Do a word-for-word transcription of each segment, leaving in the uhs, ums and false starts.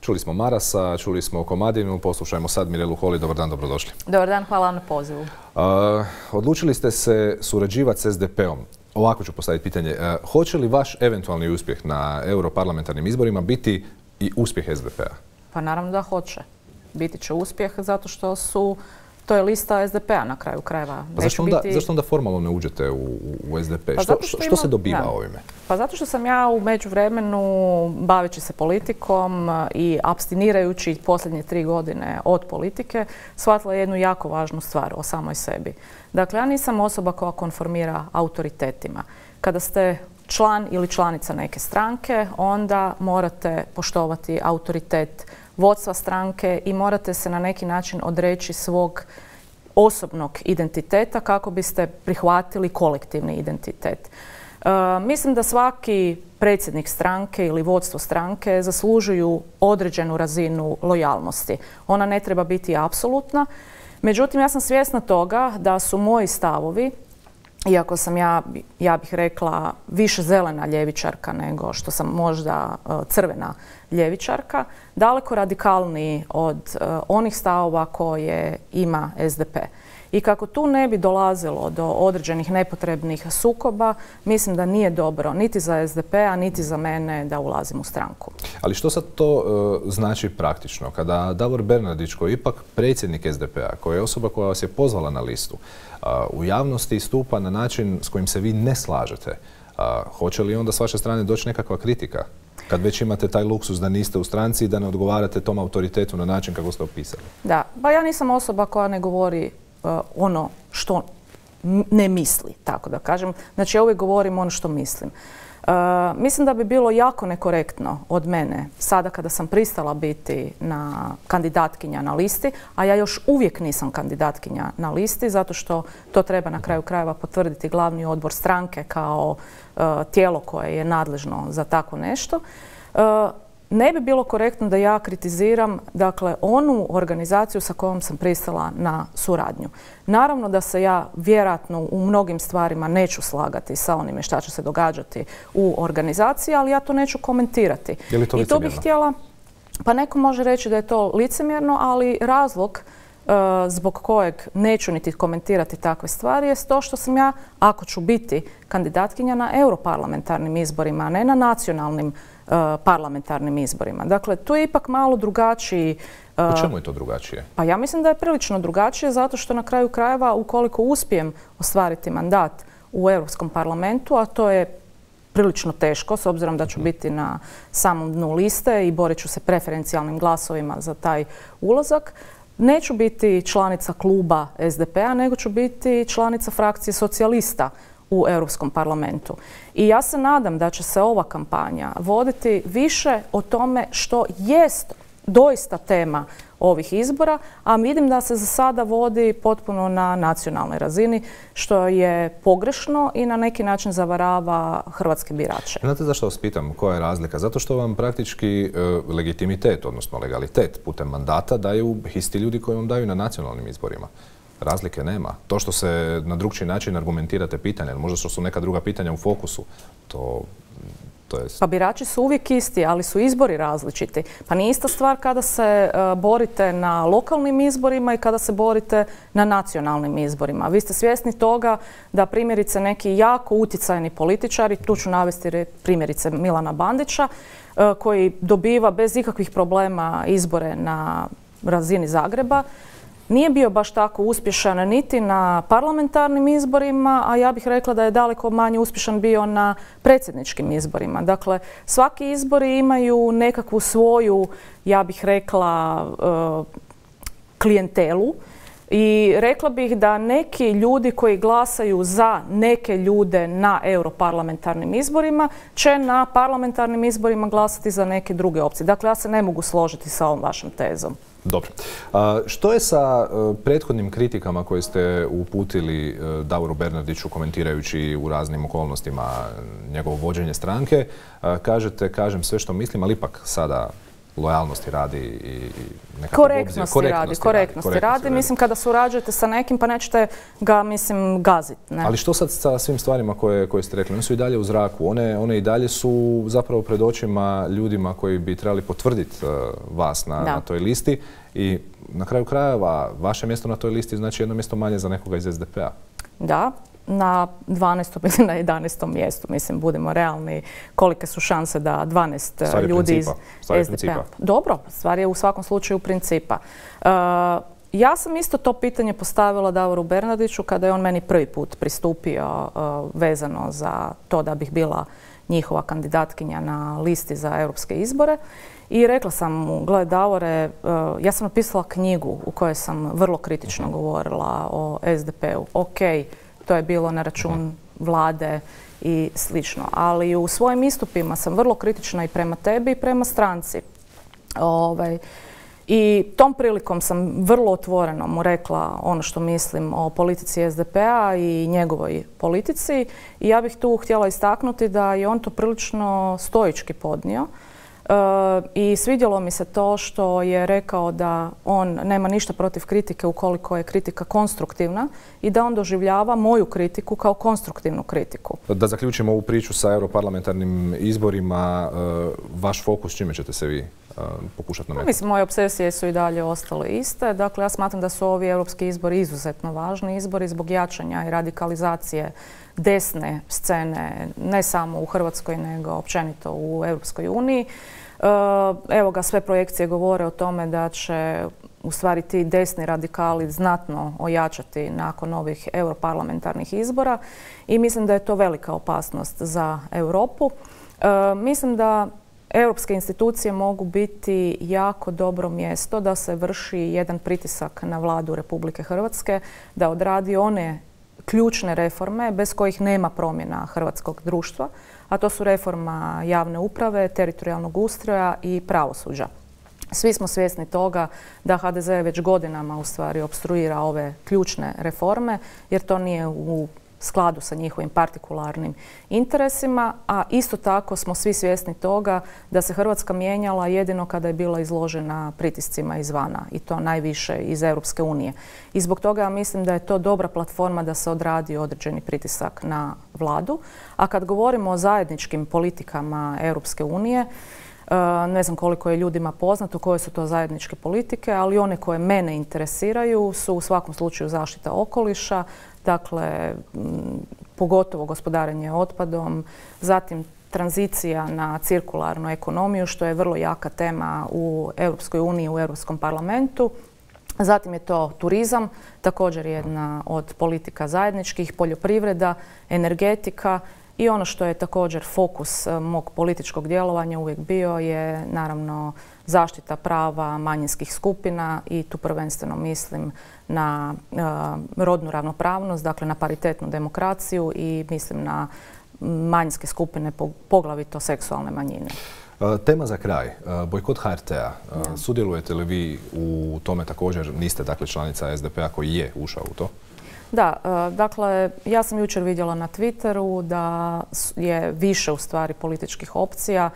Čuli smo Marasa, čuli smo Komadinu, poslušajmo sad Mirelu Holy. Dobar dan, dobrodošli. Dobar dan, hvala vam na pozivu. Uh, odlučili ste se surađivati s es de pe om. Ovako ću postaviti pitanje. Uh, hoće li vaš eventualni uspjeh na europarlamentarnim izborima biti i uspjeh es de pe a? Pa naravno da hoće. Biti će uspjeh zato što su, to je lista es de pe a na kraju krajeva. Pa zašto onda, biti... zašto onda formalno ne uđete u, u es de pe? Pa što, što, što, ima, što se dobiva da. ovime? Pa zato što sam ja u međuvremenu, baveći se politikom i apstinirajući posljednje tri godine od politike, shvatila jednu jako važnu stvar o samoj sebi. Dakle, ja nisam osoba koja konformira autoritetima. Kada ste član ili članica neke stranke, onda morate poštovati autoritet vodstva stranke i morate se na neki način odreći svog osobnog identiteta kako biste prihvatili kolektivni identitet. E, mislim da svaki predsjednik stranke ili vodstvo stranke zaslužuju određenu razinu lojalnosti. Ona ne treba biti apsolutna. Međutim, ja sam svjesna toga da su moji stavovi, iako sam ja, ja bih rekla, više zelena ljevičarka nego što sam možda crvena ljevičarka, daleko radikalniji od uh, onih stavova koje ima es de pe. I kako tu ne bi dolazilo do određenih nepotrebnih sukoba, mislim da nije dobro niti za es de pe a, niti za mene da ulazim u stranku. Ali što sad to uh, znači praktično? Kada Davor Bernardić, koji je ipak predsjednik es de pe a, koja je osoba koja vas je pozvala na listu, uh, u javnosti stupa na način s kojim se vi ne slažete, uh, hoće li onda s vaše strane doći nekakva kritika? Kad već imate taj luksus da niste u stranci i da ne odgovarate tom autoritetu na način kako ste opisali? Da, pa ja nisam osoba koja ne govori uh, ono što ne misli, tako da kažem. Znači ja uvijek govorim ono što mislim. Uh, mislim da bi bilo jako nekorektno od mene, sada kada sam pristala biti na kandidatkinja na listi, a ja još uvijek nisam kandidatkinja na listi, zato što to treba na kraju krajeva potvrditi glavni odbor stranke kao uh, tijelo koje je nadležno za tako nešto. Uh, ne bi bilo korektno da ja kritiziram, dakle, onu organizaciju sa kojom sam pristala na suradnju. Naravno da se ja vjerojatno u mnogim stvarima neću slagati sa onime šta će se događati u organizaciji, ali ja to neću komentirati. Je li to I to bih htjela, pa neko može reći da je to licemjerno, ali razlog uh, zbog kojeg neću niti komentirati takve stvari je to što sam ja, ako ću biti kandidatkinja na europarlamentarnim izborima, a ne na nacionalnim Uh, parlamentarnim izborima. Dakle, tu je ipak malo drugačiji... Uh, U čemu je to drugačije? Pa ja mislim da je prilično drugačije zato što na kraju krajeva, ukoliko uspijem ostvariti mandat u Europskom parlamentu, a to je prilično teško s obzirom da ću biti na samom dnu liste i borit ću se preferencijalnim glasovima za taj ulazak, neću biti članica kluba es de pe a, nego ću biti članica frakcije socijalista u Europskom parlamentu. I ja se nadam da će se ova kampanja voditi više o tome što jest doista tema ovih izbora, a vidim da se za sada vodi potpuno na nacionalnoj razini, što je pogrešno i na neki način zavarava hrvatske birače. Znate zašto vas pitam koja je razlika? Zato što vam praktički e, legitimitet, odnosno legalitet putem mandata daju isti ljudi koji vam daju na nacionalnim izborima. Razlike nema. To što se na drugčiji način argumentirate pitanja, možda što su neka druga pitanja u fokusu, to, to je... Pa birači su uvijek isti, ali su izbori različiti. Pa nije ista stvar kada se uh, borite na lokalnim izborima i kada se borite na nacionalnim izborima. Vi ste svjesni toga da primjerice neki jako utjecajni političari, tu ću navesti primjerice Milana Bandića, uh, koji dobiva bez ikakvih problema izbore na razini Zagreba, nije bio baš tako uspješan niti na parlamentarnim izborima, a ja bih rekla da je daleko manje uspješan bio na predsjedničkim izborima. Dakle, svaki izbori imaju nekakvu svoju, ja bih rekla, klijentelu. I rekla bih da neki ljudi koji glasaju za neke ljude na europarlamentarnim izborima će na parlamentarnim izborima glasati za neke druge opcije. Dakle, ja se ne mogu složiti sa ovom vašom tezom. Dobro. A, što je sa uh, prethodnim kritikama koje ste uputili uh, Davoru Bernardiću komentirajući u raznim okolnostima njegovo vođenje stranke? Uh, kažete, kažem sve što mislim, ali ipak sada lojalnosti radi i nekakve korektnosti, korektnosti radi. Korektnosti radi. radi. Mislim, kada surađujete sa nekim, pa nećete ga, mislim, gaziti. Ne? Ali što sad sa svim stvarima koje, koje ste rekli? One su i dalje u zraku. One, one i dalje su zapravo pred očima ljudima koji bi trebali potvrditi uh, vas na, na toj listi. I na kraju krajeva, vaše mjesto na toj listi znači jedno mjesto manje za nekoga iz es de pe a. Da. Na dvanaestom ili na jedanaestom mjestu, mislim, budemo realni, kolike su šanse da dvanaest ljudi iz es de pe a... Dobro, stvar je u svakom slučaju principa. Uh, ja sam isto to pitanje postavila Davoru Bernardiću kada je on meni prvi put pristupio uh, vezano za to da bih bila njihova kandidatkinja na listi za europske izbore. I rekla sam mu, gledaj Davore, uh, ja sam napisala knjigu u kojoj sam vrlo kritično govorila o es de pe u. Ok, to je bilo na račun vlade i slično. Ali u svojim istupima sam vrlo kritična i prema tebi i prema stranci. Ovaj, I tom prilikom sam vrlo otvoreno mu rekla ono što mislim o politici es de pe a i njegovoj politici. I ja bih tu htjela istaknuti da je on to prilično stoički podnio. I svidjelo mi se to što je rekao da on nema ništa protiv kritike ukoliko je kritika konstruktivna i da on doživljava moju kritiku kao konstruktivnu kritiku. Da zaključimo ovu priču sa europarlamentarnim izborima, vaš fokus, čime ćete se vi pokušati nametati? Mislim, moje obsesije su i dalje ostale iste. Dakle, ja smatram da su ovi europski izbori izuzetno važni izbori zbog jačanja i radikalizacije desne scene, ne samo u Hrvatskoj, nego općenito u Europskoj uniji. Evo ga, sve projekcije govore o tome da će u stvari ti desni radikali znatno ojačati nakon ovih europarlamentarnih izbora i mislim da je to velika opasnost za Europu. Mislim da europske institucije mogu biti jako dobro mjesto da se vrši jedan pritisak na vladu Republike Hrvatske da odradi one ključne reforme bez kojih nema promjena hrvatskog društva, a to su reforma javne uprave, teritorijalnog ustroja i pravosuđa. Svi smo svjesni toga da ha de ze već godinama u stvari opstruira ove ključne reforme jer to nije u skladu sa njihovim partikularnim interesima, a isto tako smo svi svjesni toga da se Hrvatska mijenjala jedino kada je bila izložena pritiscima izvana i to najviše iz Europske unije. I zbog toga mislim da je to dobra platforma da se odradi određeni pritisak na vladu. A kad govorimo o zajedničkim politikama Europske unije, ne znam koliko je ljudima poznato koje su to zajedničke politike, ali one koje mene interesiraju su u svakom slučaju zaštita okoliša, dakle pogotovo gospodarenje otpadom, zatim tranzicija na cirkularnu ekonomiju, što je vrlo jaka tema u Europskoj uniji, u Europskom parlamentu. Zatim je to turizam, također jedna od politika zajedničkih, poljoprivreda, energetika. I ono što je također fokus mog političkog djelovanja uvijek bio je naravno zaštita prava manjinskih skupina i tu prvenstveno mislim na uh, rodnu ravnopravnost, dakle na paritetnu demokraciju i mislim na manjinske skupine, poglavito seksualne manjine. Tema za kraj, bojkot ha er te a. Ja. Sudjelujete li vi u tome također? Niste dakle članica es de pe a koji je ušao u to? Da, dakle, ja sam jučer vidjela na Twitteru da je više u stvari političkih opcija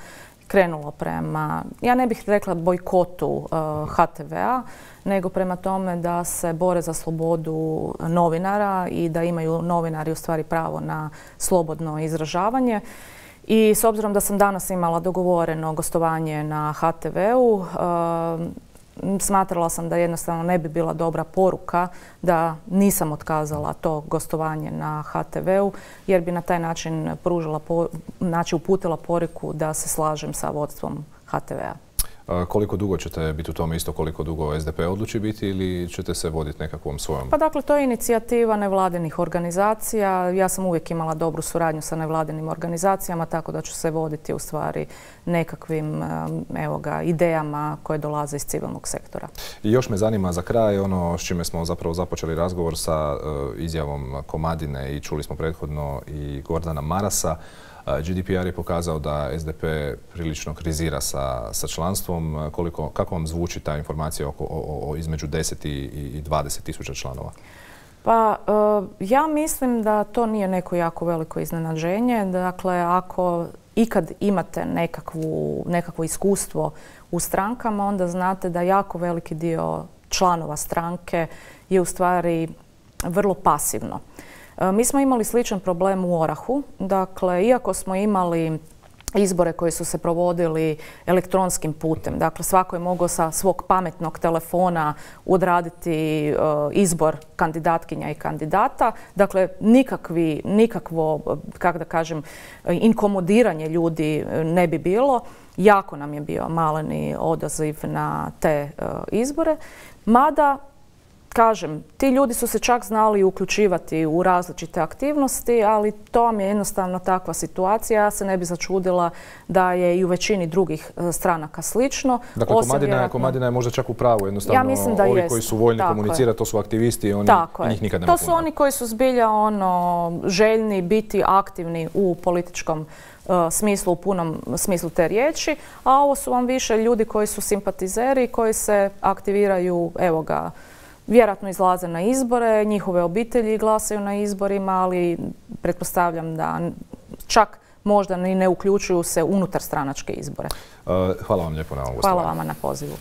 krenulo prema, ja ne bih rekla bojkotu ha te ve a, nego prema tome da se bore za slobodu novinara i da imaju novinari u stvari pravo na slobodno izražavanje. I s obzirom da sam danas imala dogovoreno gostovanje na ha te ve u, smatrala sam da jednostavno ne bi bila dobra poruka da nisam otkazala to gostovanje na ha te ve u jer bi na taj način pružila, znači uputila poruku da se slažem sa vodstvom ha te ve a. Koliko dugo ćete biti u tome, isto koliko dugo es de pe odluči biti ili ćete se voditi nekakvom svojom? Pa dakle, to je inicijativa nevladinih organizacija. Ja sam uvijek imala dobru suradnju sa nevladinim organizacijama, tako da ću se voditi u stvari nekakvim evo ga, idejama koje dolaze iz civilnog sektora. I još me zanima za kraj ono s čime smo zapravo započeli razgovor sa uh, izjavom Komadine i čuli smo prethodno i Gordana Marasa. ge de pe er je pokazao da es de pe prilično krizira sa, sa članstvom. Koliko, kako vam zvuči ta informacija oko, o, o između deset i dvadeset tisuća članova? Pa ja mislim da to nije neko jako veliko iznenađenje. Dakle, ako ikad imate nekakvu, nekakvo iskustvo u strankama, onda znate da jako veliki dio članova stranke je u stvari vrlo pasivno. Mi smo imali sličan problem u Orahu. Dakle, iako smo imali izbore koji su se provodili elektronskim putem, dakle svako je mogao sa svog pametnog telefona odraditi izbor kandidatkinja i kandidata. Dakle, nikakvi, nikakvo, kako da kažem, inkomodiranje ljudi ne bi bilo. Jako nam je bio maleni odaziv na te izbore. Mada, kažem, ti ljudi su se čak znali uključivati u različite aktivnosti, ali to vam je jednostavno takva situacija. Ja se ne bi začudila da je i u većini drugih stranaka slično. Dakle, Komadina, vjerojatno... Komadina je možda čak u pravu. Jednostavno, ja mislim da ovi jest. koji su voljni komunicirati, to su aktivisti, oni, i njih nikad nema To su puno. oni koji su zbilja ono, željni biti aktivni u političkom uh, smislu, u punom smislu te riječi, a ovo su vam više ljudi koji su simpatizeri, koji se aktiviraju, evo ga, vjerojatno izlaze na izbore, njihove obitelji glasaju na izborima, ali pretpostavljam da čak možda ni ne uključuju se unutar stranačke izbore. Hvala vam lijepo na ovom gostovanju. Hvala vama na pozivu.